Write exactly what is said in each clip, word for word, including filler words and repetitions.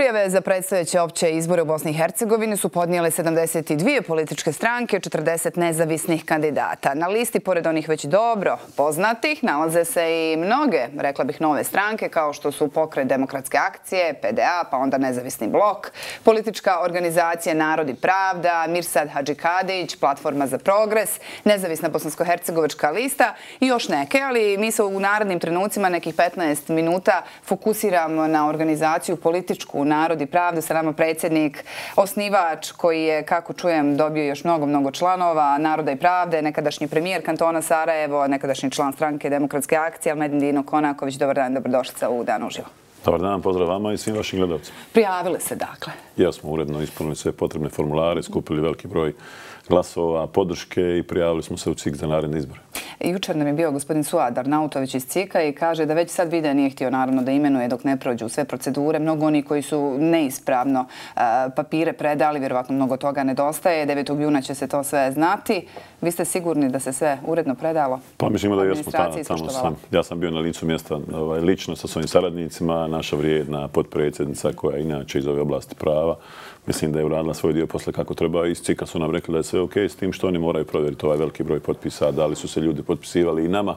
Prijave za predstojeće opće izbore u Bosni i Hercegovini su podnijele sedamdeset dvije političke stranke, četrdeset nezavisnih kandidata. Na listi, pored onih već dobro poznatih, nalaze se i mnoge, rekla bih, nove stranke, kao što su Pokret demokratske akcije, P D A, pa onda Nezavisni blok, politička organizacija Narod i pravda, Mirsad Hadžikadić, Platforma za progres, Nezavisna bosansko-hercegovačka lista i još neke, ali mi se u narednim trenucima, nekih petnaest minuta, fokusiramo na organizaciju političku Narod i pravdu. Sa nama predsjednik, osnivač koji je, kako čujem, dobio još mnogo, mnogo članova Naroda i pravde, nekadašnji premijer kantona Sarajevo, nekadašnji član stranke Demokratske akcije, Almedin Dino Konaković. Dobar dan, dobrodošlica u Dan uživo. Dobar dan, pozdrav vama i svim vašim gledalcima. Prijavili se, dakle. Ja smo uredno ispunili sve potrebne formulare, skupili veliki broj glasova, podrške i prijavili smo se u C I K za naredne izbore. Jučer nam je bio gospodin Suad Arnautović iz C I K-a i kaže da već sad vide, nije htio naravno da imenuje dok ne prođu sve procedure. Mnogo oni koji su neispravno papire predali, vjerovatno mnogo toga nedostaje. devetog juna će se to sve znati. Vi ste sigurni da se sve uredno predalo? Pa mislimo da jesmo tamo sam. Ja sam bio na licu mjesta lično sa svojim saradnicima, naša vrijedna potpredsjednica koja je inače iz ove oblasti prava. Mislim da je uradila svoj dio posle kako treba. Iz C I K-a su nam rekli da je sve ok s tim što oni moraju provjeriti ovaj veliki broj potpisa, da li su se ljudi potpisivali i nama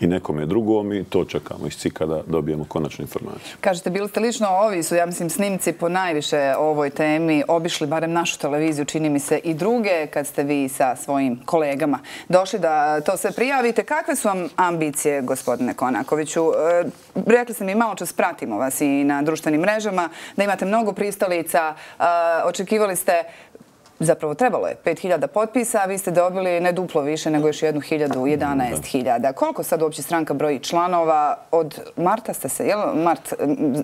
i nekome drugom i to čekamo iz C I K-a da dobijemo konačnu informaciju. Kažete, bili ste lično, ovi su, ja mislim, snimci po najviše ovoj temi obišli barem našu televiziju, čini mi se, i druge, kad ste vi sa svojim kolegama došli da to sve prijavite. Kakve su vam ambicije, gospodine Konakoviću? Rekli ste mi, malo čas pratimo vas i na društvenim mrežama, da imate mnogo pristalica. Očekivali ste, zapravo trebalo je pet hiljada potpisa, a vi ste dobili ne duplo više nego još jednu hiljadu, jedanaest hiljada. Koliko sad uopće stranka broji članova? Od marta ste se, jel mart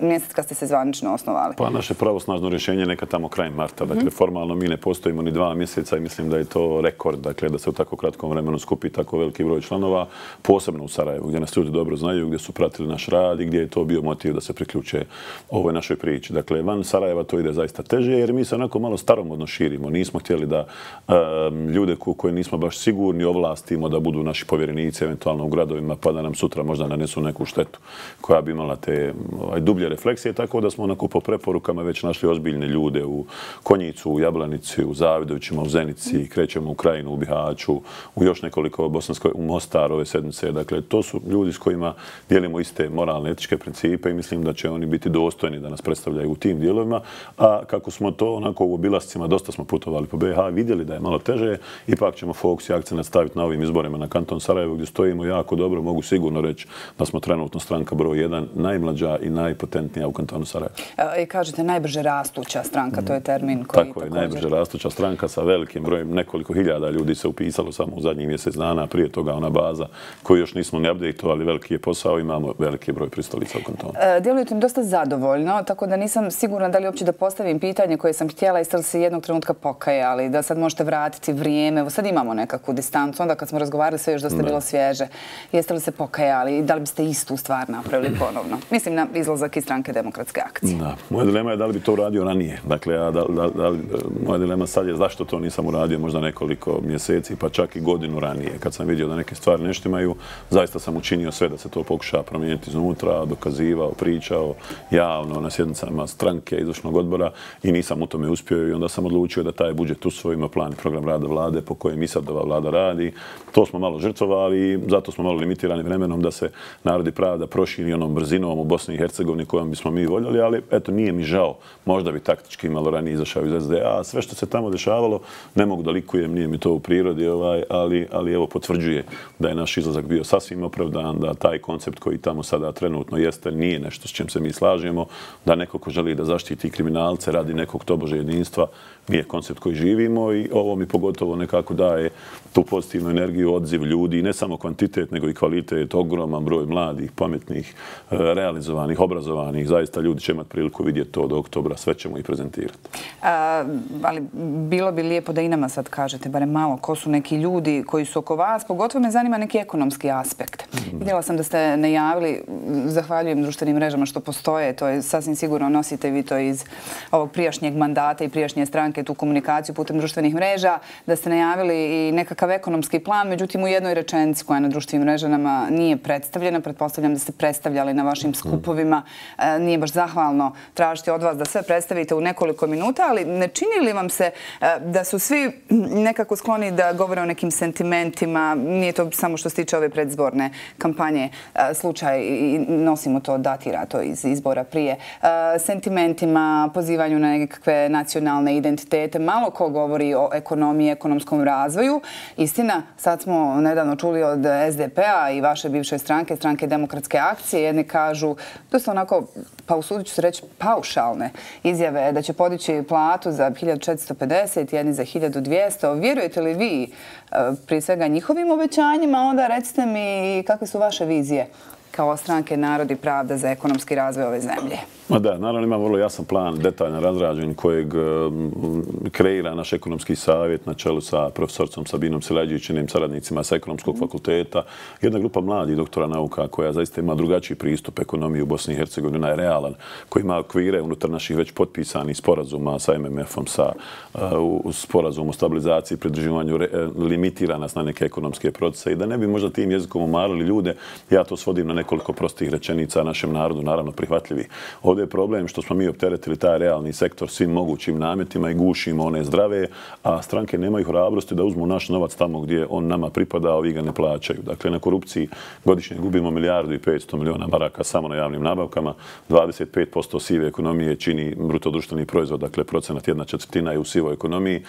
mjesec kad ste se zvanično osnovali? Pa naše pravosnažno rješenje neka tamo kraj marta. Dakle, formalno mi ne postojimo ni dva mjeseca i mislim da je to rekord, dakle, da se u tako kratkom vremenu skupi tako veliki broj članova, posebno u Sarajevu, gdje nas ljudi dobro znaju, gdje su pratili naš rad i gdje je to bio motiv da se priključe ovoj našoj priči. Dakle, van Sarajeva to ide zaista teže jer mi se onako malo staromodno širimo. Nismo htjeli da um, ljude koje nismo baš sigurni ovlastimo da budu naši povjerenici eventualno u gradovima pa da nam sutra možda nanesu neku štetu koja bi imala te ovaj, dublje refleksije. Tako da smo onako po preporukama već našli ozbiljne ljude u Konjicu, u Jablanici, u Zavidovićima, u Zenici, krećemo u Krajinu, u Bihaću, u još nekoliko bosanskoj, u Mostar ove sedmice. Dakle, to su ljudi s kojima dijelimo iste moralne, etičke principe i mislim da će oni biti dostojni da nas predstavljaju u tim dijelovima. A kako smo to onako u obilascima, dosta smo putovali po B iH, vidjeli da je malo teže, ipak ćemo fokus i akcent staviti na ovim izborima na kanton Sarajevo gdje stojimo jako dobro. Mogu sigurno reći da smo trenutno stranka broj jedan, najmlađa i najpotentnija u kantonu Sarajevo. I kažete najbrže rastuća stranka, to je termin koji tako je, najbrže rastuća stranka sa velikim brojem, nekoliko hiljada ljudi se upisalo samo u zadnjih mjesec dana, prije toga ona baza koju još nismo ni updateovali, veliki je posao, imamo veliki broj pristalica u kantonu. Djelujete mi dosta zadovoljno, tako da nisam sigurna da li uopće da postavim pitanje koje sam htjela, jeste li se jednog trenutka pokajali, da sad možete vratiti vrijeme. Evo sad imamo nekakvu distancu, onda kad smo razgovarali sve još da ste bilo svježe. Jeste li se pokajali i da li biste istu stvar napravili ponovno? Mislim na izlazak iz stranke Demokratske akcije. Da. Moja dilema je da li bi to uradio ranije. Dakle, ja, da, da, da, moja dilema sad je zašto to nisam uradio možda nekoliko mjeseci, pa čak i godinu ranije. Kad sam vidio da neke stvari ne štimaju, zaista sam učinio sve da se to pokuša promijeniti iznutra, dokazivao, pričao javno na sjednicama stranke, izvršnog odbora i nisam u tome uspio i onda sam odlučio da taj budžet usvojimo, plan i program rada vlade po kojem i sad ova vlada radi. To smo malo žrtvovali i zato smo malo limitirani vremenom da se Narod i pravda proširi onom brzinom u Bosni i Hercegovini kojom bismo mi voljeli, ali eto, nije mi žao. Možda bi taktički malo ranije izašao iz S D A. Sve što se tamo dešavalo, ne mogu da likujem, nije mi to u prirodi, ovaj, ali, ali evo potvrđuje da je naš izlazak bio sasvim opravdan, da taj koncept koji tamo sada trenutno jeste nije nešto s čim se mi slažemo, da neko ko želi da zaštiti kriminalce radi nekog tobože jedinstva, nije koncept koji živimo i ovo mi pogotovo nekako daje tu pozitivnu energiju, odziv ljudi, ne samo kvantitet, nego i kvalitet, ogroman broj mladih, pametnih, realizovanih, obrazovanih. Zaista ljudi će imati priliku vidjeti to do oktobra, sve ćemo ih prezentirati. A, ali bilo bi lijepo da i nama sad kažete, barem malo, ko su neki ljudi koji su oko vas, pogotovo me zanima neki ekonomski aspekt. Mm. Vidjela sam da ste najavili, zahvaljujem društvenim mrežama što postoje, to je sasvim sigurno, nosite vi to iz ovog prijašnjeg mandata i prijašnje stranke, tu komunikaciju putem društvenih mreža, da ste najavili i nekakav nekakav ekonomski plan, međutim u jednoj rečenici koja na društvenim mrežama nije predstavljena, pretpostavljam da ste predstavljali na vašim skupovima, nije baš zahvalno tražiti od vas da sve predstavite u nekoliko minuta, ali ne čini li vam se da su svi nekako skloni da govore o nekim sentimentima, nije to samo što se tiče ove predizborne kampanje slučaj i nosimo to, datira to iz izbora prije, sentimentima, pozivanju na nekakve nacionalne identitete, malo ko govori o ekonomiji, ekonomskom razvoju. Istina, sad smo nedavno čuli od S D P-a i vaše bivše stranke, stranke Demokratske akcije, jedni kažu, dosta onako, pa usudit ću se reći, paušalne izjave da će podići platu za hiljadu četiristo pedeset, jedni za hiljadu dvjesto. Vjerujete li vi prije svega njihovim obećanjima? Onda recite mi kakve su vaše vizije kao stranke Narod i pravda za ekonomski razvoj ove zemlje? Ma da, naravno imamo vrlo jasan plan, detaljan razrađen kojeg kreira naš ekonomski savjet na čelu sa profesorcom Sabinom Silađić i njenim saradnicima sa ekonomskog fakulteta. Jedna grupa mladih doktora nauka koja zaista ima drugačiji pristup ekonomiji u Bosni i Hercegovini, ona je realan, koji ima okvire unutar naših već potpisanih sporazuma sa M M F-om, sa sporazumom o stabilizaciji i pridruživanju, limitira nas na neke ekonomske procese i da ne bi možda tim jezikom umarali ljude, ja to svodim na nekoliko prostih rečenica našem narodu, naravno prihvatljivi. Ovdje je problem što smo mi opteretili taj realni sektor svim mogućim nametima i gušimo one zdrave, a stranke nemaju hrabrosti da uzmu naš novac tamo gdje on nama pripada, a ovi ga ne plaćaju. Dakle, na korupciji godišnje gubimo milijardu i petsto miliona maraka samo na javnim nabavkama, dvadeset pet posto sive ekonomije čini brutodruštveni proizvod, dakle procenat jedna četvrtina je u sivoj ekonomiji.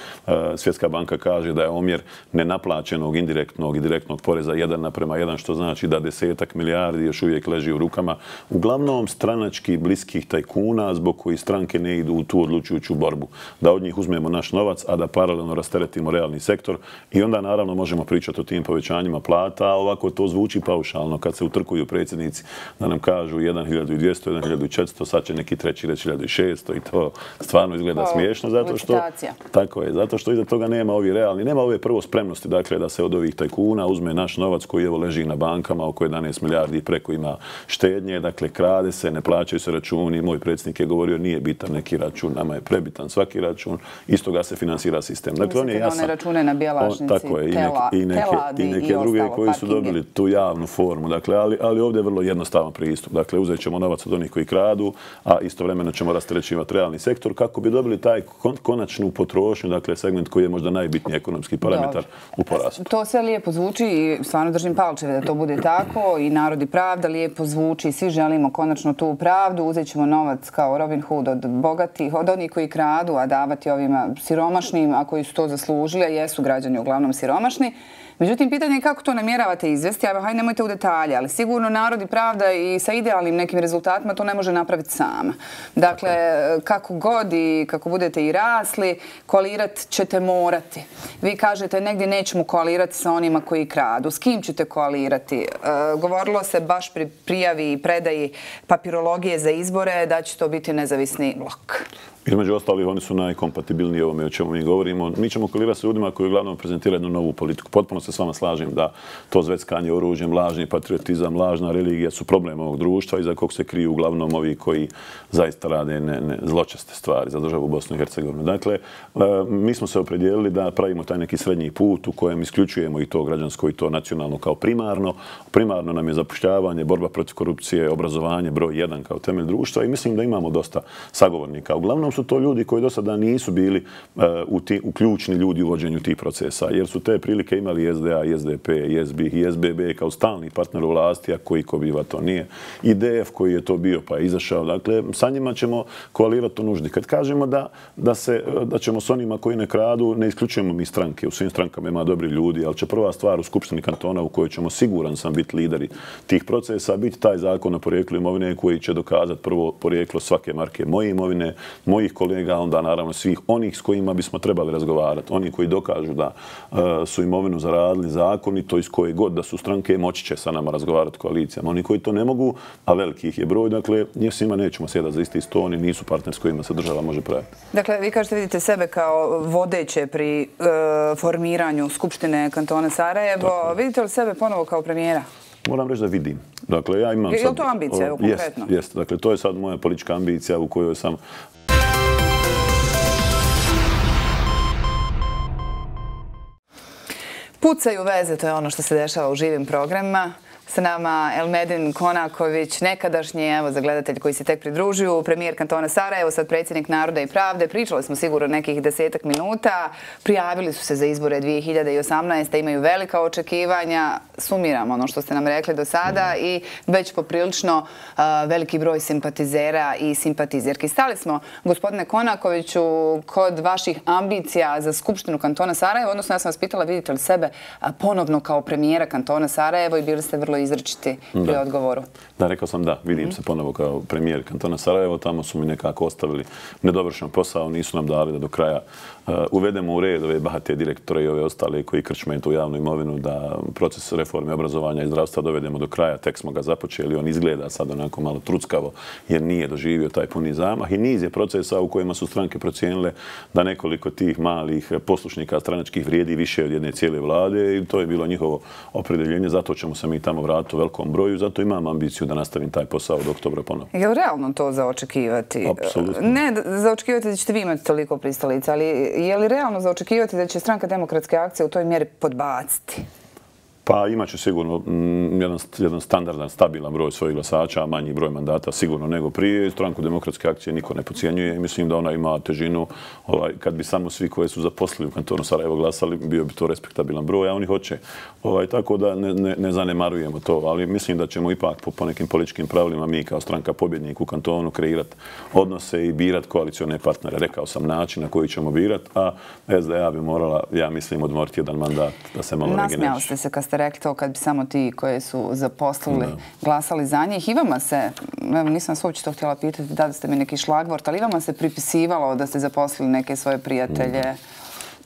Svjetska banka kaže da je omjer nenaplaćenog, indirektnog i direktnog poreza jedan naprema jedan, što znači da desetak milijardi još uvijek leži u rukama uglavnom stranački bliskih tajkuna zbog koji stranke ne idu u tu odlučujuću borbu. Da od njih uzmemo naš novac, a da paralelno rasteretimo realni sektor i onda naravno možemo pričati o tim povećanjima plata, a ovako to zvuči paušalno kad se utrkuju predsjednici da nam kažu hiljadu dvjesto, hiljadu četiristo, sad će neki treći reći hiljadu šesto i to stvarno izgleda smiješno zato što tako je, zato što iza toga nema ovi realni, nema ove prvo spremnosti, dakle da se od ovih tajkuna uzme naš novac koji evo leži na bankama oko jedanaest milijardi i preko ima štednje, dakle krade se, ne plaćaju se računi. Moj predsjednik je govorio nije bitan neki račun, nama je prebitan svaki račun, isto ga se finansira sistem. Dakle, on je jasan. One račune na Bjelašnici, tako je, i neke druge koji su dobili tu javnu formu. Dakle, ali ovdje je vrlo jednostavan pristup. Dakle, uzet ćemo novac od onih koji kradu, a istovremeno ćemo rasterećivati realni sektor kako bi dobili taj konačnu potrošnju, dakle segment koji je možda najbitniji ekonomski parametar u porastu. To sve lijepo zvuči i stvarno držim palčeve da to bude tako i Narod i pravda lijepo zvuči i svi želimo konačno tu pravdu. Uzet ćemo novac kao Robin Hood od bogatih, od onih koji kradu, a davati ovima siromašnim, a koji su to zaslužili, a jesu građani uglavnom siromašni. Međutim, pitanje je kako to namjeravate izvesti, a hajde nemojte u detalje, ali sigurno Narod i pravda i sa idealnim nekim rezultatima to ne može napraviti sama. Dakle, kako god i kako budete i rasli, koalirat ćete morati. Vi kažete negdje nećemo koalirati sa onima koji kradu. S kim ćete koalirati? Govorilo se baš pri prijavi i predaji papirologije za izbore da će to biti nezavisni blok. Između ostalih, oni su najkompatibilniji ovome o čemu mi govorimo. Mi ćemo koalirati sa ljudima koji uglavnom prezentiraju jednu novu politiku. Potpuno se s vama slažem da to zveckanje oružjem, lažni patriotizam, lažna religija su problem ovog društva iza kog se kriju uglavnom ovi koji zaista rade ne, ne, zločeste stvari za državu Bosnu i Hercegovinu. Dakle, mi smo se opredijelili da pravimo taj neki srednji put u kojem isključujemo i to građansko i to nacionalno kao primarno. Primarno nam je zapošljavanje, borba protiv korupcije, obrazovanje, broj jedan kao temelj društva i mislim da imamo dosta sagovornika. Uglavnom su to ljudi koji do sada nisu bili uh, u, ti, u ključni ljudi u vođenju tih procesa, jer su te prilike imali S D A, I S D P, I S B I, S B B kao stalni partner u vlasti, a koji ko biva to nije. I D F koji je to bio pa je izašao. Dakle, sa njima ćemo koalirati u nuždi. Kad kažemo da, da, se, da ćemo s onima koji ne kradu, ne isključujemo mi stranke. U svim strankama ima dobri ljudi, ali će prva stvar u Skupštini kantona u kojoj ćemo siguran sam biti lideri tih procesa, biti taj zakon o porijeklu imovine koji će dokazati prvo porijeklo svake marke moje imovine, mojih kolega, onda naravno svih onih s kojima bismo trebali razgovarati. Oni koji dokažu da uh, su imovinu zaradili zakonito iz koje god da su stranke, moći će sa nama razgovarati koalicijama. Oni koji to ne mogu, a velikih je broj, dakle, njih svima nećemo sjedati za isti sto, oni nisu partner s kojima se država može praviti. Dakle, vi kažete, vidite sebe kao vodeće pri uh, formiranju Skupštine kantona Sarajevo. Tako. Vidite li sebe ponovo kao premijera? Moram reći da vidim. Dakle, ja imam je sad... Je li to ambicija, evo, konkretno? Jest, jest. Dakle, to je sad moja politička ambicija u kojoj sam Pucaju veze, to je ono što se dešava u živim programima. Sa nama Elmedin Konaković, nekadašnji, evo, za gledatelj koji se tek pridružuju, premijer kantona Sarajevo, sad predsjednik Naroda i pravde. Pričali smo sigurno nekih desetak minuta. Prijavili su se za izbore dvije hiljade osamnaeste. Imaju velika očekivanja. Sumiramo ono što ste nam rekli do sada i već poprilično veliki broj simpatizera i simpatizerki. Stali smo, gospodine Konakoviću, kod vaših ambicija za Skupštinu kantona Sarajevo, odnosno ja sam vas pitala vidite li sebe ponovno kao premijera kantona Sarajevo i bili ste vrlo izričiti pri odgovoru. Da, rekao sam da. Vidim se ponovo kao premijer kantona Sarajevo. Tamo su mi nekako ostavili nedovršen posao. Nisu nam dali da do kraja uvedemo u red ove bahate direktore i ove ostale koji krčme tu javnu imovinu, da proces reforme obrazovanja i zdravstva dovedemo do kraja. Tek smo ga započeli. On izgleda sad onako malo truckavo jer nije doživio taj puni zamah. I niz je procesa u kojima su stranke procijenile da nekoliko tih malih poslušnika stranačkih vrijedi više od jedne cijele vlade i to je bilo njihovo opredeljenje. Zato ćemo se mi tamo vratiti u velikom broju. Zato imam ambiciju da nastavim taj posao od oktobra ponovno. Je li realno to za očekivati? Apsolutno. Ne za očekivati da ćete vi imati toliko pristalica, ali je li realno za očekivati da će Stranka demokratske akcije u toj mjeri podbaciti? Pa imat ću sigurno jedan, jedan standardan, stabilan broj svojih glasača, a manji broj mandata sigurno nego prije. Stranku demokratske akcije niko ne podcjenjuje i mislim da ona ima težinu. Ovaj, kad bi samo svi koji su zaposlili u kantonu Sarajevo glasali, bio bi to respektabilan broj, a oni hoće. Ovaj, tako da ne, ne, ne zanemarujemo to, ali mislim da ćemo ipak po, po nekim političkim pravilima mi kao stranka pobjednik u kantonu kreirati odnose i birati koalicione partnere. Rekao sam način na koji ćemo birati, a S D A bi morala, ja mislim, odmoriti jedan mandat da se malo regeneriše. Ste rekli to kad bi samo ti koje su zaposlili glasali za njih. I vama se, nisam vas uopće to htjela pitati, da ste mi neki šlagvort, ali i vama se pripisivalo da ste zaposlili neke svoje prijatelje.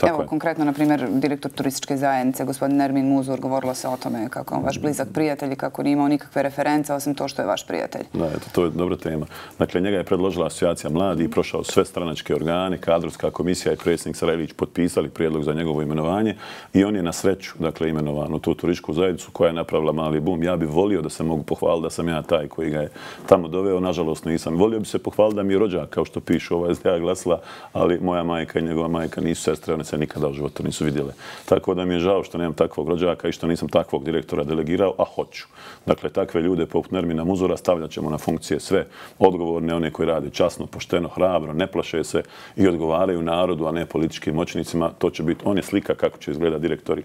Evo, konkretno, na primjer, direktor turističke zajednice, gospodin Nermin Muzur, govorilo se o tome kako je on vaš blizak prijatelj i kako nije imao nikakve reference, osim to što je vaš prijatelj. Da, eto, to je dobra tema. Dakle, njega je predložila asocijacija mladih, prošao sve stranačke organe, kadrovska komisija i predsjednik Sarajlić potpisali prijedlog za njegovo imenovanje i on je na sreću, dakle, imenovan u tu turističku zajednicu koja je napravila mali bum. Ja bih volio da se mogu pohvaliti da sam ja taj koji ga je tamo doveo, nažalost nisam. Volio bi se pohvaliti da mi je rođak, kao što pišu ova S D A glasila, ali moja majka i njegova majka nisu sestre, one se nikada u životu nisu vidjele. Tako da mi je žao što nemam takvog rođaka i što nisam takvog direktora delegirao, a hoću. Dakle, takve ljude poput Nermina Muzura stavljat ćemo na funkcije sve odgovorne, one koji rade časno, pošteno, hrabro, ne plaše se i odgovaraju narodu, a ne političkim moćnicima. To će biti, on je slika kako će izgledati direktori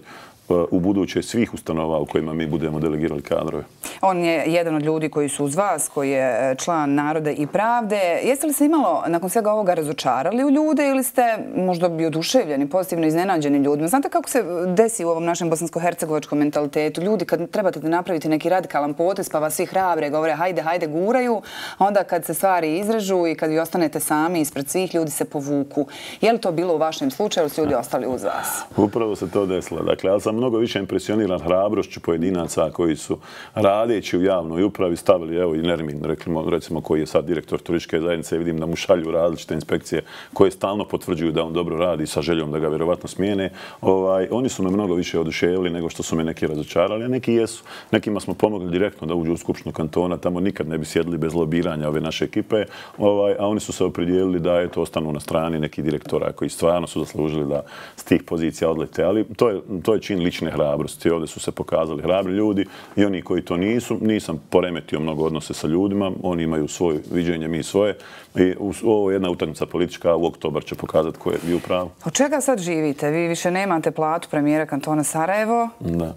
u buduće svih ustanova u kojima mi budemo delegirali kadrove. On je jedan od ljudi koji su uz vas, koji je član Naroda i pravde. Jeste li se imalo nakon svega ovoga razočarali u ljude ili ste možda bi oduševljeni, pozitivno iznenađeni ljudima? Znate kako se desi u ovom našem bosansko-hercegovačkom mentalitetu? Ljudi kad trebate da napravite neki radikalan potez pa vas svi hrabre govore hajde, hajde, guraju, a onda kad se stvari izrežu i kad vi ostanete sami ispred svih, ljudi se povuku. Je li to bilo u vašem slučaju ili su ljudi ostali uz vas? Upravo se to desilo. Dakle, ali sam mnogo više impresioniran hrabrošću pojedinaca koji su radeći u javnoj upravi stavili, evo i Nermin, recimo koji je sad direktor turističke zajednice, vidim da mu šalju različite inspekcije koje stalno potvrđuju da on dobro radi sa željom da ga vjerovatno smijene. Ovaj, oni su me mnogo više oduševili nego što su me neki razočarali, a neki jesu. Nekima smo pomogli direktno da uđu u Skupštinu kantona, tamo nikad ne bi sjedili bez lobiranja ove naše ekipe, ovaj, a oni su se opredijelili da eto, ostanu na strani neki direktora koji stvarno su zaslužili da s tih pozicija odlete. Ali to je, to je čin lične hrabrosti. Ovdje su se pokazali hrabri ljudi i oni koji to nisu. Nisam poremetio mnogo odnose sa ljudima. Oni imaju svoje viđenje, mi svoje. I ovo je jedna utakmica politička. U oktobar će pokazati ko je bio pravo. Od čega sad živite? Vi više nemate platu premijera kantona Sarajevo. Da.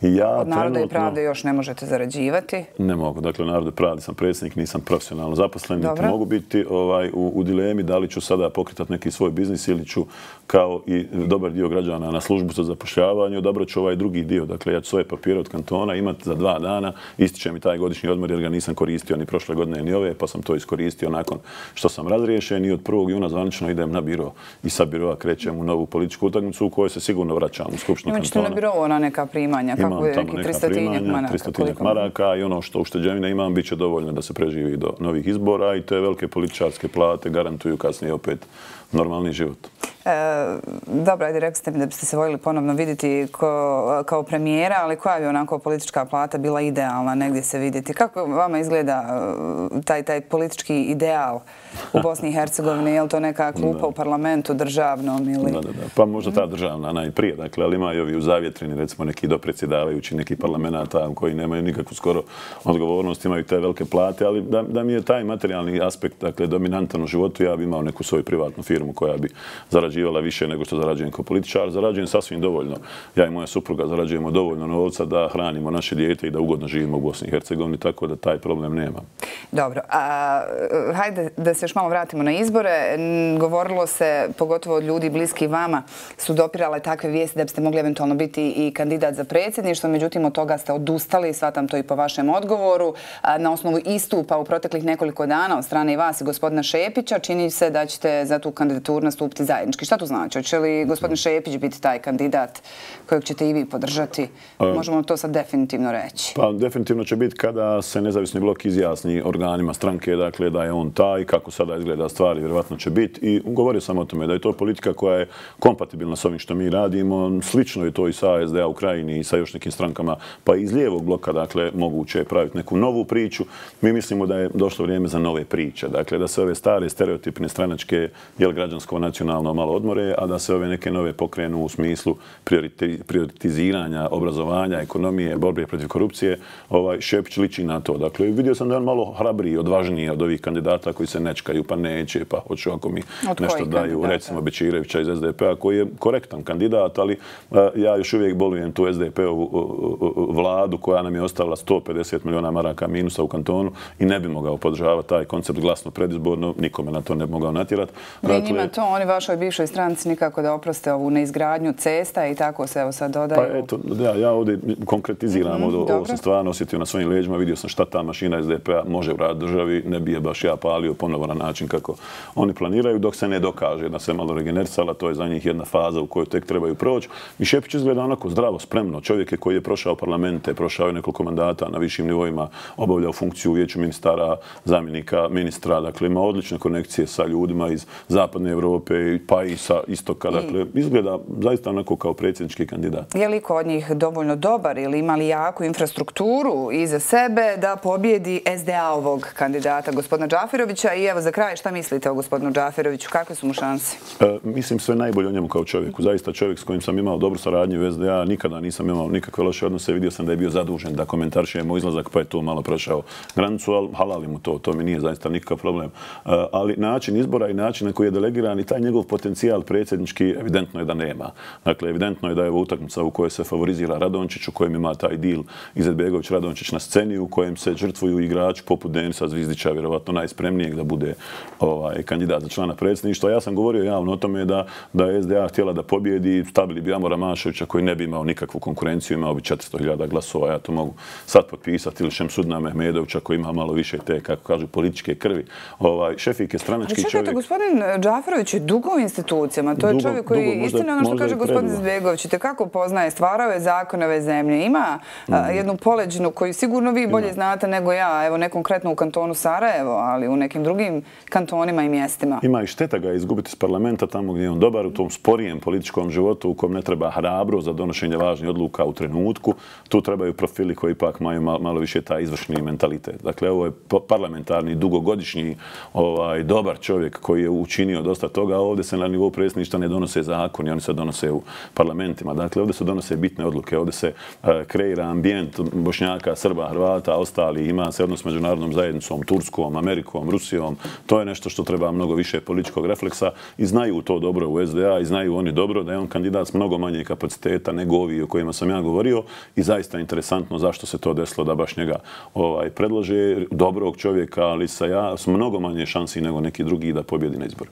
Ja od Naroda i pravde još ne možete zarađivati? Ne mogu. Dakle, Naroda i pravde sam predsjednik, nisam profesionalno zaposlen. Niti mogu biti ovaj, u, u dilemi da li ću sada pokretati neki svoj biznis ili ću kao i dobar dio građana na službu za zapošljavanje odabrat ću ovaj drugi dio. Dakle, ja ću svoje papire od kantona imati za dva dana. Ističe mi taj godišnji odmor jer ga nisam koristio ni prošle godine ni ove, pa sam to iskoristio nakon što sam razriješen i od prvog juna zvanično idem na biro i sa biroa krećem u novu političku utakmicu u kojoj se sigurno vraćam u Skupštinu kantona. Imate na biro ona neka primanja? Imam tamo neka primanja, tristotinjak maraka i ono što ušteđevine imam bit će dovoljno da se preživi do novih izbora i te velike političarske plate garantuju kasnije opet normalni život. Dobro, ajde, rekli ste mi da biste se voljeli ponovno vidjeti kao premijera, ali koja bi onako politička plata bila idealna negdje se vidjeti? Kako vama izgleda taj, taj politički ideal u Bosni i Hercegovini? Je li to neka klupa u parlamentu državnom ili... Da, da, da. Pa možda ta državna najprije, dakle, ali imaju ovi u zavjetrini, recimo neki dopredsjedavajući, neki parlamenata koji nemaju nikakvu skoro odgovornost, imaju te velike plate, ali da, da mi je taj materijalni aspekt, dakle, dominantan u životu, ja bi imao neku svoju privatnu firmu koja bi zarađivala više nego što zarađujem kao političar. Zarađujem sasvim dovoljno. Ja i moja supruga zarađujemo dovoljno novca da hranimo naše dijete i da ugodno živimo u Bosni i Hercegovini, tako da taj problem nema. Dobro. A, hajde da se još malo vratimo na izbore. Govorilo se, pogotovo od ljudi bliski vama, su dopirale takve vijesti da biste mogli eventualno biti i kandidat za predsjedništvo, međutim od toga ste odustali, shvatam to i po vašem odgovoru. A, na osnovu istupa u proteklih nekoliko dana od strane i vas i gospodina Šepića, čini se da ćete za tu kandidaturu nastupiti zajednički. Šta to znači? Hoće li gospodin Šepić biti taj kandidat kojeg ćete i vi podržati? Možemo to sad definitivno reći? Pa definitivno će biti kada se nezavisni blok izjasni organima stranke, dakle da je on taj, kako sada izgleda stvari, vjerovatno će biti. I govorio sam o tome da je to politika koja je kompatibilna s ovim što mi radimo. Slično je to i sa A S D A u Krajini i sa još nekim strankama, pa i iz lijevog bloka, dakle, moguće je praviti neku novu priču. Mi mislimo da je došlo vrijeme za nove priče. Dakle, da se ove stare stereotipne stranačke, jel građansko nacionalno malo odmore, a da se ove neke nove pokrenu u smislu prioritiziranja, obrazovanja, ekonomije, borbe protiv korupcije. Ovaj, Šepić liči na to. Dakle, vidio sam da je on malo hrabriji, odvažniji od ovih kandidata koji se nečkaju, pa neće, pa hoću ako mi nešto daju, recimo Bečirevića iz S D P-a, koji je korektan kandidat, ali ja još uvijek bolujem tu S D P-ovu vladu koja nam je ostavila sto pedeset milijuna maraka minusa u kantonu i ne bi mogao podržavati taj koncept glasno predizborno, nikome na to ne bi mogao natjerati. Dakle, njima to, oni vašoj bivšoj stranci nikako da oproste ovu neizgradnju cesta i tako se evo sad dodaju. Pa eto, ja, ja ovdje konkretiziram, mm, ovo sam stvarno osjetio na svojim leđima, vidio sam šta ta mašina S D P-a može uraditi državi, ne bi je baš ja palio ponovo na način kako oni planiraju, dok se ne dokaže da se malo regenerisala, to je za njih jedna faza u kojoj tek trebaju proći. I Šepić izgleda onako zdravo, spremno. Čovjek je koji je prošao parlamente, prošao je nekoliko mandata na višim nivoima, obavljao funkciju u vijeću ministara, zamjenika ministra, dakle ima odlične konekcije sa ljudima iz zapadne Europe pa i sa istoka, dakle izgleda zaista onako kao predsjednički kandidat. Je li kod njih dovoljno dobar ili ima li jaku infrastrukturu iza sebe da pobjedi S D A-ovog kandidata, gospodina Džaferovića? I evo za kraj, šta mislite o gospodinu Džaferoviću? Kakve su mu šanse? E, mislim sve najbolje o njemu kao čovjeku. Zaista čovjek s kojim sam imao dobru saradnju u S D A, nikada nisam imao nikakve loše odnose. Vidio sam da je bio zadužen da komentaršuje moj izlazak, pa je to malo prošao granicu, ali halali mu to. To mi nije zaista nikakav problem. E, ali način izbora i način na koji je delegiran i taj njegov potencijal predsjednički evidentno je da nema. Dakle, evidentno je da je ovo utakmica u kojoj se favorizira Radončić, u kojem ima taj deal Izetbegović Radončić na sceni, u kojem se žrtvuju igrači poput Denisa Zvizdića, vjerovatno najspremnijeg da bude ovaj, kandidat za člana predsjedništva. Ja sam govorio javno o tome da, da je S D A htjela da pobjedi, stavili bi Amora Maševića koji ne bi imao nikakvu konkurenciju, imao bi četiristo hiljada glasova, ja to mogu sad potpisati, ili Šemsudna Mehmedovića koji ima malo više te, kako kažu, političke krvi. Ovaj, Šefik je stranački čovjek. Ali čekajte, gospodin Džaferović je dugo u institucijama, to je dugo, čovjek koji, dugo, možda, istina ono što kaže gospodin Izetbegović, i tekako poznaje, stvarao je zakone ove zemlje, ima mm. a, jednu poleđinu koju sigurno vi bolje ima. Znate nego ja, evo ne konkretno u kantonu Sarajevo, ali u nekim drugim kantonima i mjestima. Ima i šteta ga izgubiti iz parlamenta tamo gdje je on dobar, u tom sporijem političkom životu u kojem ne treba hrabro za donošenje važnih odluka u trenutku. Tu trebaju profili koji ipak imaju malo, malo više taj izvršni mentalitet. Dakle, ovo je parlamentarni, dugogodišnji, ovaj, dobar čovjek koji je učinio dosta toga, a ovdje se na nivou predsjedništva ne donose zakoni, oni se donose u parlamentima. Dakle, ovdje se donose bitne odluke, ovdje se uh, kreira ambijent Bošnjaka, Srba, Hrvata, ostali, ima se odnos s međunarodnom zajednicom, Turskom, Amerikom, Rusijom. To je nešto što treba mnogo više političkog refleksa i znaju to dobro u S D A i znaju oni dobro da je on kandidat s mnogo manje kapaciteta nego ovi o kojima sam ja govorio i zaista interesantno zašto se to desilo da baš njega ovaj, predlože dobrog čovjeka, ali sa ja s mnogo manje šansi nego neki drugi da pobjedi na izboru.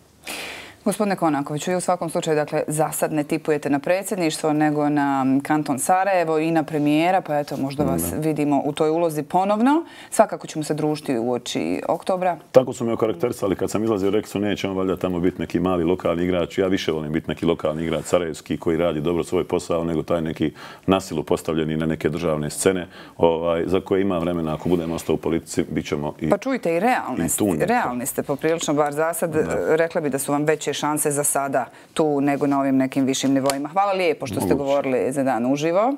Gospodine Konakoviću, vi u svakom slučaju, dakle, za sad ne tipujete na predsjedništvo, nego na kanton Sarajevo i na premijera, pa eto, možda vas ne. vidimo u toj ulozi ponovno. Svakako ćemo se družiti u oči oktobra. Tako su me okarakterisali kad sam izlazio, rekli su neće on valjda tamo biti neki mali lokalni igrač. Ja više volim biti neki lokalni igrač sarajevski koji radi dobro svoj posao, nego taj neki nasilu postavljeni na neke državne scene, ovaj, za koje ima vremena. Ako budemo ostao u politici, bit ćemo i... Pa čujte, i realni, i realni ste poprilično, bar za sad, rekla bi da su vam veće bolje šanse za sada tu nego na ovim nekim višim nivoima. Hvala lijepo što ste govorili za Dan uživo.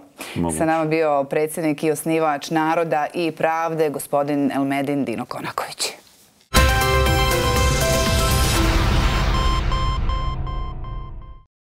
Sa nama bio predsjednik i osnivač Naroda i pravde, gospodin Elmedin Dino Konaković.